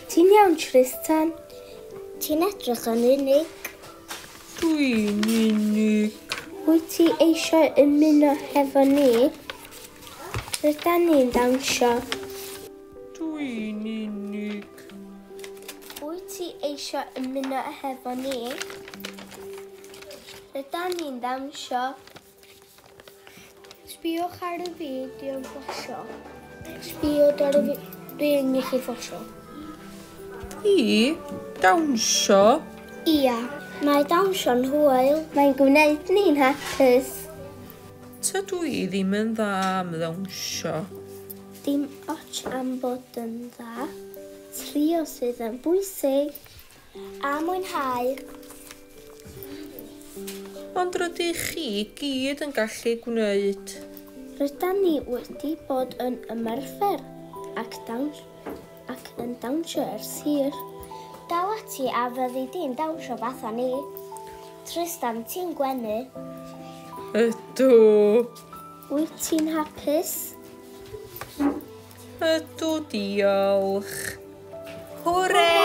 Ti'n iawn, Tristan? Ti'n edrych yn unig. Dwi'n unig. Wyt ti eisiau ymuno hefo ni? Rydan ni'n dawnsio. Dwi'n unig. Wyt ti eisiau ymuno hefo ni? Rydan ni'n dawnsio. Sbïwch ar y fideo yn fflasio. Sbïwch ar y fideo. Dwi'n gallu fflasio. I dawnsio? Ia, mae dawnsio'n hwyl. Mae'n gwneud ni'n hapus. Tydw i ddim yn dda am ddawnsio. Dim ots am bod yn dda. Trio sydd yn bwysig. A mwynhau. Ond rydych chi gyd yn gallu gwneud. Rydan ni wedi bod yn ymarfer ac dawns ac yn dawnsio ers hir. Dal ati a fyddi di'n dawnsio fatha ni. Tristan, ti'n gwenu. Ydw. Wyt ti'n hapus? Ydw, diolch. Hwre!